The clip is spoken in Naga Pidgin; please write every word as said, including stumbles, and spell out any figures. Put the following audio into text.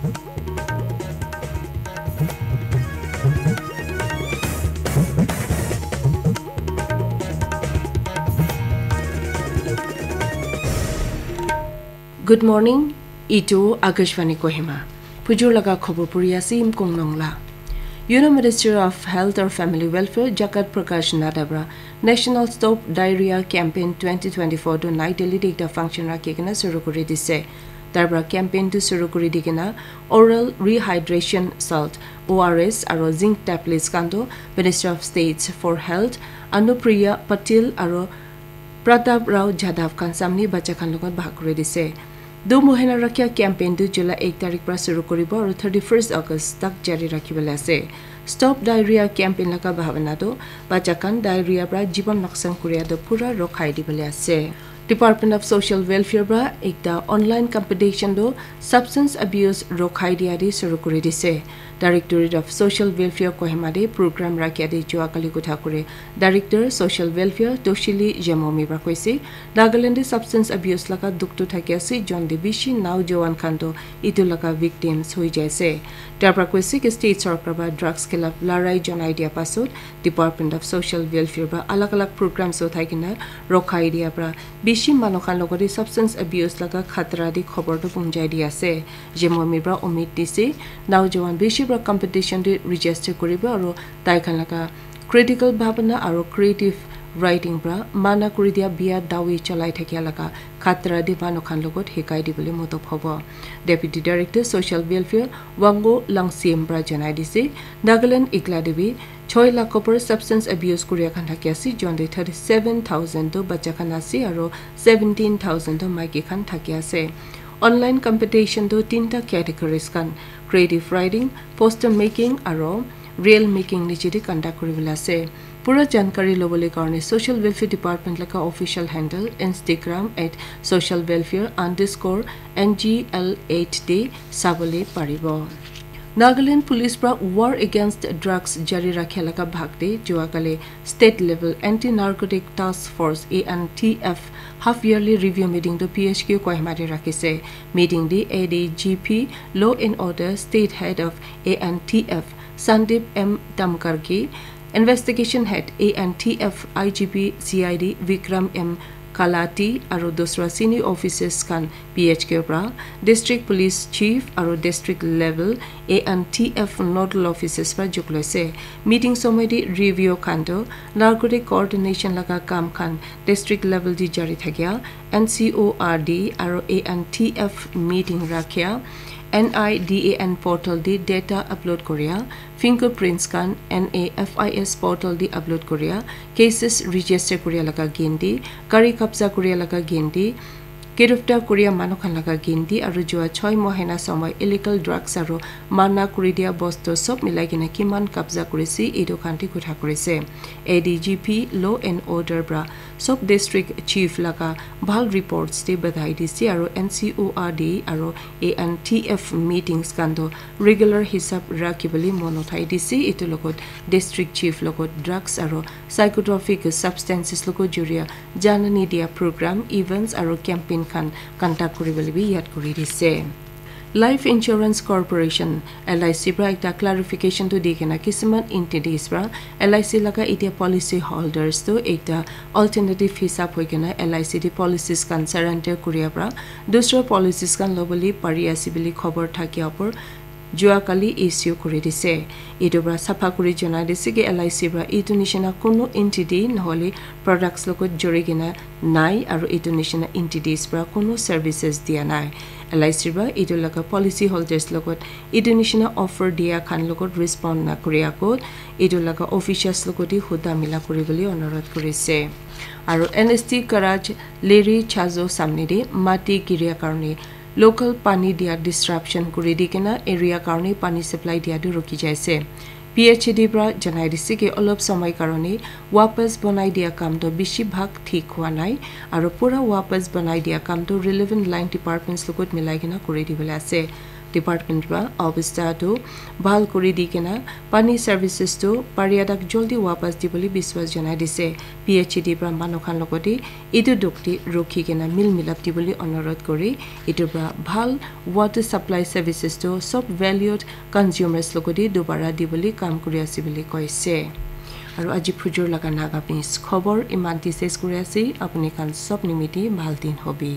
Good morning, itu Akashvani Kohima. Pujur laga khobor puri ase Imkong Nongla. Union Minister of Health or Family Welfare Jagat Prakash Nadda para National Stop Diarrhea Campaign twenty twenty-four tu Nai Delhi te ekta function rakhi kena suru kuri dise. Tar para campaign tu suru kuri di kena oral rehydration salt, O R S, aro zinc tablets khan tu Minister of States for Health Anupriya Patil aro Pratap Rao Jadhav khan samne bacha khan logot bhag kuri dise. Du mohina rakhya campaign tu July ek tarik para suru kuribo aro thirty-first August tak jari rakhibole ase. Stop Diarrhea campaign laga bhabana tu bacha khan diarrhea para jiban noksan kuria tu pura rokhai dibole ase. Department of Social Welfare para ekta online competition tu substance abuse rokhai dia de suru kuri dise. Directorate of Social Welfare Kohima de program rakhia de jua kali kotha kure Director Social Welfare Toshili Jemomi para koise, Nagaland de substance abuse laga dukh tu thaki ase, jon de bishi naujowan khan tu itu laga victims hoi jai ase. Tar para koise ki state sorkar para drugs khilaf larai janai dia pasot Department of Social Welfare para alag alag programs uthai kena rokhai dia para bishi manu khan logot de substance abuse laga khatra de khobor tu punjai di ase. Jemomi para umid dise, naujowan bishi para competition de register kuribo aro tai khan laga critical bhabana aro creative writing para mana kuri dia bia dawi cholai thakia laga khatra de manu khan logot hikai dibole modop hobo. Deputy Director Social Welfare Wango Langsim para janai dise, Nagaland ikla de bi choi lakh upor substance abuse kuria khan thaki ase, jon de thirty-seven thousand tu bacha khan ase aro seventeen thousand tu maiki khan thaki ase. Online competition tu tinta categories khan, creative writing, poster making aro reel making niche de conduct kuribole ase. Pura jankari lobole karone Social Welfare Department laga official handle Instagram at social welfare underscore N G L eight de sabole paribo. Nagaland Police para War Against Drugs jari rakhia laga bhag de jua kali State Level Anti Narcotic Task Force, A N T F, half yearly review meeting tu P H Q Kohima de rakhise. Meeting de A D G P Law and Order State Head of A N T F Sandeep M Tamkarki, Investigation Head A N T F I G P C I D Vikram M Kalati aro dusra senior officers khan P H Q pra, District Police Chief aro District Level A N T F Nodal Officers pra jukloise. Meeting somoi te review khan toh narcotic coordination laga kam khan district level te jari thakia, N C O R D aro A N T F meeting rakhia, N I D A N portal te data upload koria, fingerprints khan N A F I S portal te upload koria, cases register koria laga gindi, gari kabza koria laga gindi, giriftar koria manu khan laga gindi, aru jua choi mohina somoi illegal drugs aru mana kuri dia bostu sob milai kena kiman kabza kurise, etu khan te kotha kurise. A D G P Law and Order pra sob district chief laga bhal reports te badhai dise aru N C O R D aru A N T F meetings khan toh regular hisab rakhi bole mon uthai dise. Etu logot district chief logot drugs aru psychotropic substances logot juria janani dia program, events aru campaign khan conduct kuri bole bi yad kuri dise. Life Insurance Corporation, L I C pra ekta clarification tu di kena kisiman entities pra L I C laga etia policy holders tu ekta alternative hisab hoi kena L I C te policies khan surrender kuria pra dusra policies khan lobole pari ase bole khobor thakia opor jua kali issue kuri dise. Etu pra sapha kuri janai dise ki L I C pra etu nishina kunu entity nohole products logot juri kena nai aru etu nishina entities pra kunu services dia nai. L I C pra etu laga policy holders logot etu nishina offer dia khan logot respond na kuri agot etu laga officials logot te huda mila kuri bole onurodh kurise. Aru N S T garage Leri Chazo samne te mati giria karne local pani dia disruption kuri di kena area karne pani supply dia tu ruki jaise. P H E D pra janai dise ki olop somoi karone wapas banai dia kam toh bishi bhag thik hua nai, aru pura wapas banai dia kam toh relevant line departments logot milai kena kuri dibole ase. Department pra obostha tu bhal kuri di kena pani services tu paria tak joldi wapas dibole biswas janai dise. P H E D pra manu khan logoti etu dukti rukhi kena mil milap dibole onurodh kuri etu pra bhal water supply services tu sob valued consumers logoti dubara dibole kam kuri ase bole koise. Aru aji phujur laga Naga Pins khobor iman ti ses kuri ase. Apuni khan sob nimiti bhal din hobi.